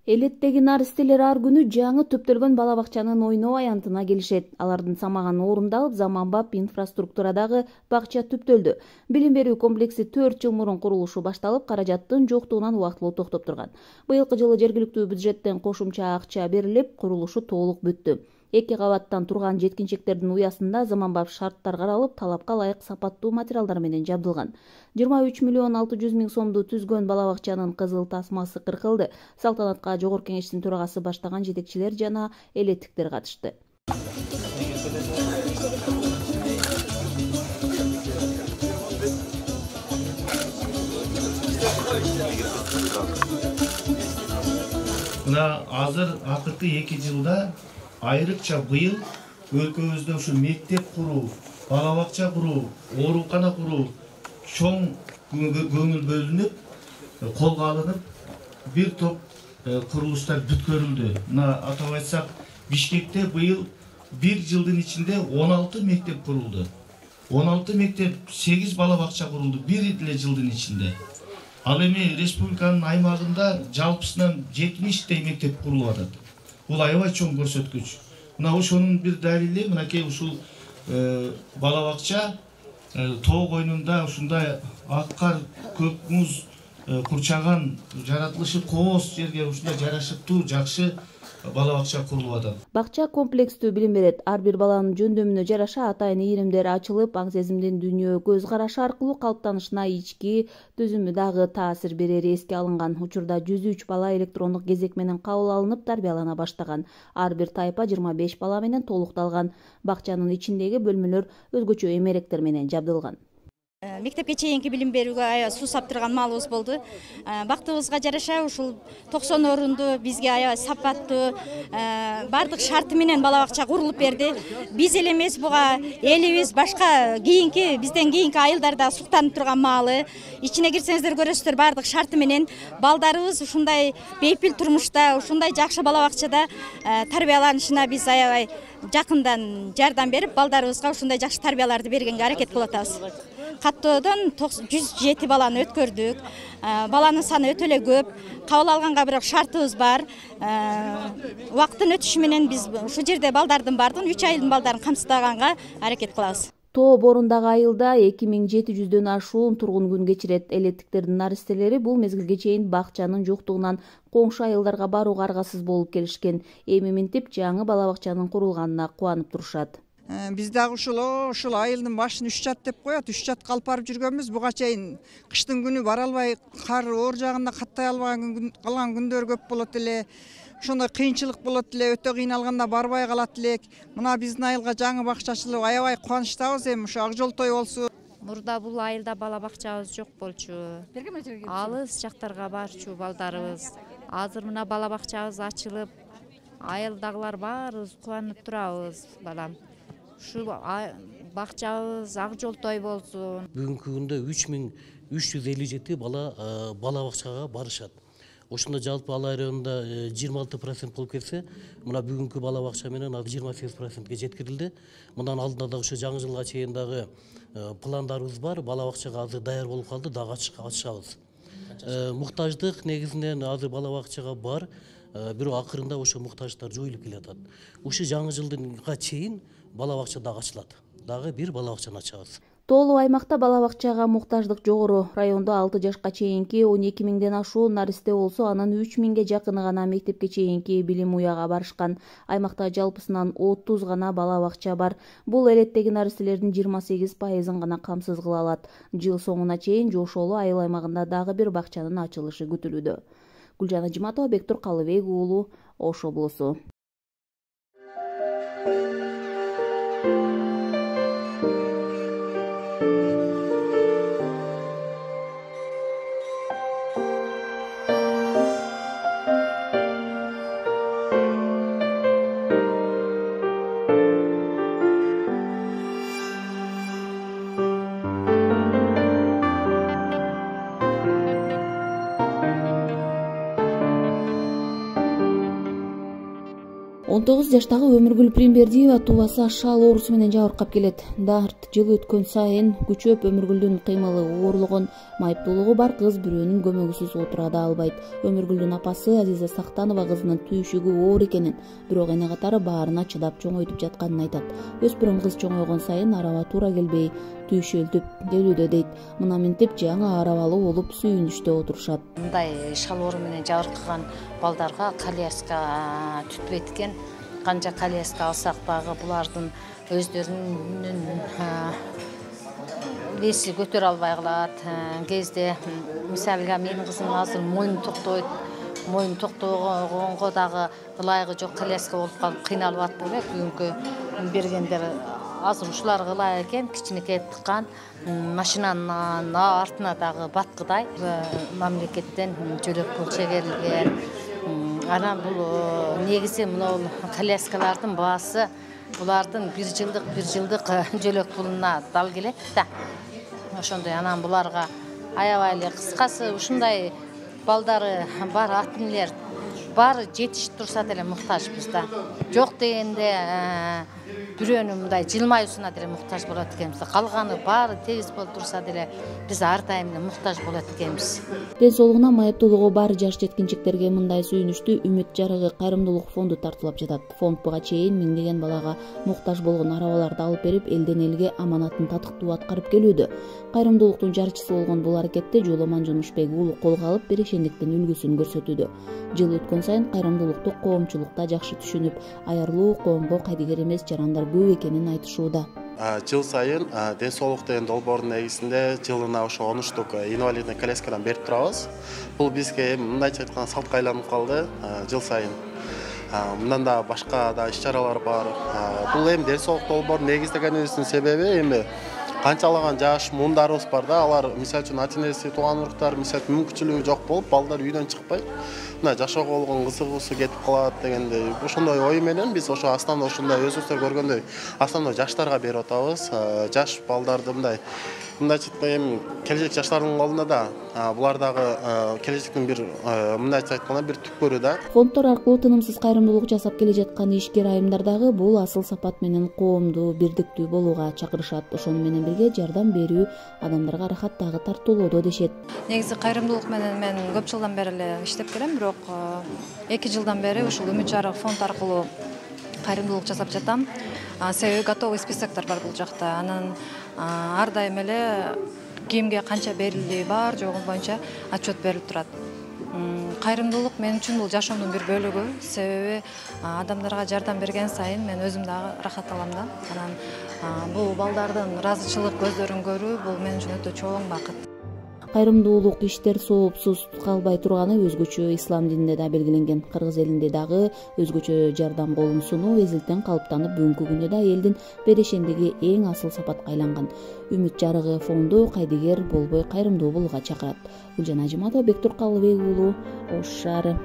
Элеттеги наристелер ар күнү жаңы төптөлгөн бала бакчанын ойноо аянтына келишет. Алардын самаганы орундалып, заманбап инфраструктурадагы бакча түптөлдү. Билим берүү комплекси 4 жыл мурун курулушу башталып, каражаттын жоктугунан убактылуу токтоп турган. Быйылкы жылы жергиликтүү бюджеттен кошумча акча берилип, курулушу толук бүттү. 2 кабаттан турган жеткинчектердин уясында заманбап шарттар каралып, талапка ылайык сапаттуу материалдар менен жабдылган. 23 миллион 600 миң сомду түзгөн бала бакчанын кызыл тасмасы кыркылды. Салтанатка Жогорку Кеңештин төрагасы баштаган жетекчилер жана элеттиктер катышты. Мына азыр акыркы 2 жылда айрыкча быйыл өлкөбүздө ушу мектеп куруу, бала бакча куруу, оорукана куруу чоң көңүл бөлүнүп, колго алынып, бир топ курулуштар бүткөрүлдү. Мына атап айтсак, Бишкекте быйыл 1 жылдын ичинде 16 мектеп курулду. 16 мектеп, 8 бала бакча курулду 1 эле жылдын ичинде. Ал эми республиканын аймагында жалпысынан 70 мектеп курулуп атат. Бул аябай чоң көрсөткүч. Мына ошонун бир далили, мынакей ушул бала бакча тоо койнунда ушундай ак кар, көк муз курчаган, жаратылышы кооз жерге ушундай жарашыктуу, жакшы бала бакча курулуп атат. Бакча комплекстүү билим берет. Ар бир баланын жөндөмүнө жараша атайын ийримдер ачылып, аң сезимдин дүйнө көз карашы аркылуу калыптанышына ички түзүмү дагы таасир берери эске алынган. Учурда 103 бала электрондук кезек менен кабыл алынып, тарбиялана баштаган. Ар бир тайпа 25 бала менен толукталган. Бакчанын ичиндеги бөлмөлөр өзгөчө эмеректер менен жабдылган. Мектепке чейинки билим берүүгө аябай суусап турган маалыбыз болду. Бактыбызга жараша ушул 90 орунду бизге аябай сапаттуу, бардык шарты менен бала бакча курулуп берди. Биз эле эмес, буга элибиз, башка бизден кийинки айылдар да суктанып турган маалы. Ичине кирсеңиздер көрөсүздөр, бардык шарты менен балдарыбыз ушундай бейпил турмушта, ушундай жакшы бала бакчада тарбияланышына биз аябай жакындан жардам берип, балдарыбызга ушундай жакшы тарбияларды бергенге аракет кылып атабыз. Каттоодон 107 баланы өткөрдүк. Баланын саны өтө эле көп. Кабыл алганга бирок шартыбыз бар. Убакыттын өтүшү менен биз ушул жерде балдардын бардыгын 3 айылдын балдарын камсыздаганга аракет кылабыз. Тоо борундагы айылда 2700дөн ашуун тургун күн кечирет. Элеттиктердин наристелери бул мезгилге чейин бакчанын жоктугунан коңшу айылдарга барууга аргасыз болуп келишкен. Эми минтип жаңы бала бакчанын курулганына кубанып турушат. Биз дагы ушул айылдын башын 3 жат деп коет, 3 жатка алып барып жүргөнбүз. Буга чейин кыштын күнү бара албай, кар оор жагында каттай албаган калган күндөр көп болот эле. Ошондой кыйынчылык болот эле, өтө кыйналганда барбай калат элек. Мына биздин айылга жаңы бакча ачылып, аябай кубанычтабыз. Эми ушу ак жол той болсун. Мурда бул айылда бала бакчабыз жок болчу. Алыс жактарга барчу балдарыбыз. Азыр мына бала бакчабыз ачылып, айылдагылар баарыбыз кубанып турабыз, балам. Ушу бакчабыз ак жол той болсун. Бүгүнкү күндө 3357 бала бакчага барышат. Ошондо жалпы Ала районунда 26% болуп кетсе, мына бүгүнкү бала бакча менен 28%ге жеткирилди. Мындан алдында да ошо жаңы жылга чейин дагы пландарыбыз бар. Бала бакчага азыр даяр болуп калды, дагы ачышабыз. Муктаждык негизинен азыр бала бакчага бар, бирок акырында ошо муктаждыктар жоюлуп келатат. Ушу жаңы жылга чейин бала бакча дагы ачылат. Дагы бир бала бакчаны ачабыз. Тоолуу аймакта бала бакчага муктаждык жогору. Райондо 6 жашка чейинки 12 миңден ашуун наристе болсо, анын 3 миңге жакыны гана мектепке чейинки билим уяга барышкан. Аймакта жалпысынан 30 гана бала бакча бар. Бул элеттеги наристелердин 28%-ын гана камсыз кыла алат. Жыл соңуна чейин Жошоолу айыл аймагында дагы бир бакчанын ачылышы күтүлүүдө. Гүлжан Ажиматова, Бектур Калыбек уулу, Ош облусу. 19 жаштагы Өмүргүл Примбердиева тубасы ашал оорусу менен жабыркап келет. Дарт жыл өткөн сайын күчөп Өмүргүлдүн кыймылы оорлогон, майыптуулугу бар кыз бирөөнүн көмөгүсүз отура да албайт. Өмүргүлдүн апасы Азиза Сактанова кызынын түйшүгү оор экенин, бирок эне катары баарына чыдап чоңойтуп жатканын айтат. Өспүрүм кыз чоңойгон сайын араба туура келбей, түйшөлтүп келүүдө дейт. Мына мынтип жаңы арабалуу болуп сүйүнүштө отурушат. Мындай шал оору менен жабыркаган балдарга коляска түтпөйт экен. Канча коляска алсак дагы булардын өздөрүнүн эси көтөрө албай калат. Кезде мисалы менин кызым азыр моюну токтобойт. Моюну токтогонго дагы ылайыгы жок коляска болуп калып кыйналып атты эле. Бүгүнкү бергендер азыр ушуларга ылайык экен, кичинекей тыккан, машинанын артына дагы баткыдай мамлекеттен жөлөк пул чегерилген. Анан бул негизи мына коляскалардын баасы булардын бир жылдык жөлөк пулуна дал келет да. Ошондой анан буларга аябай эле кыскасы ушундай балдары бар ата энелер баары жетишип турса деле муктажбыз да. Жок дегенде бирөөнү мындай жылмаюусуна деле муктаж болот экенбиз. Калганы баары тегиз болуп турса деле биз ар дайым муктаж болот экенбиз. Ден соолугуна, майыптуулугу бар жаш жеткинчектерге мындай сүйүнүштү Үмүт жарыгы кайрымдуулук фонду тартуулап жатат. Фонд буга чейин миңдеген балага муктаж болгон арабаларды алып берип, элден элге аманатын татыктуу аткарып келүүдө. Кайрымдуулуктун жарчысы болгон бул аракетти Жоломан Жунушбек уулу колго алып, берешендиктин үлгүсүн көрсөтүүдө. Жыл өткөн сайын кайрымдуулукту коомчулукта жакшы түшүнүп, аярлуу коомго кайдыгер эмес жарандар көп экенин айтышууда. Жыл сайын ден соолук деген долбоордун негизинде жылына ошо 10 штук инвалидный коляскадан берип турабыз. Бул бизге мындайча айтканда салтка айланып калды жыл сайын. Мындан да башка да иш-чаралар бар. Бул эми ден соолук долбоорун негиздегенибиздин себеби эми канчалаган жаш муундарыбыз бар да, алар мисалы үчүн ата энеси, тууган уруктар мисалы мүмкүнчүлүгү жок болуп, балдар үйдөн чыкпайт. Мына жашоого болгон кызыгуусу кетип калат дегендей ошондой ой менен биз ошо основной ушундай өзүңүздөр көргөндөй основной жаштарга берип атабыз. Жаш балдарды мындайча айтканда эми келечек жаштардын колунда да, булар дагы келечектин бир мындайча айтканда бир түпкөрү да. Фонддор аркылуу тынымсыз кайрымдуулук жасап келе жаткан ишкер айымдар дагы бул асыл сапат менен коомду бирдиктүү болууга чакырышат. Ошону менен бирге жардам берүү адамдарга рахат дагы тартуулоодо дешет. Негизи кайрымдуулук менен мен көп жылдан бери эле иштеп келем, бирок 2 жылдан бери ушул Үмүт жарык фонд аркылуу кайрымдуулук жасап жатам. Себеби готовый списоктор бар бул жакта. Анан ар дайым эле кимге канча берилди бар жогу боюнча отчет берилип турат. Кайрымдуулук мен үчүн бул жашоомдун бир бөлүгү. Себеби адамдарга жардам берген сайын мен өзүм дагы рахат алам да. Анан бул балдардын ыраазычылык көздөрүн көрүү бул мен үчүн өтө чоң бакыт. Кайрымдуулук иштер соопсуз калбай турганы өзгөчө ислам дининде да белгиленген. Кыргыз элинде дагы өзгөчө жардам колун сунуу эзилтен калыптанып, бүгүнкү күндө да элдин берешендиги эң асыл сапатка айланган. Үмүт жарыгы фонду кайдыгер болбой кайрымдуу болууга чакырат. Гүлжан Ажиматова, Бектур Калыбек уулу, Ош шаары.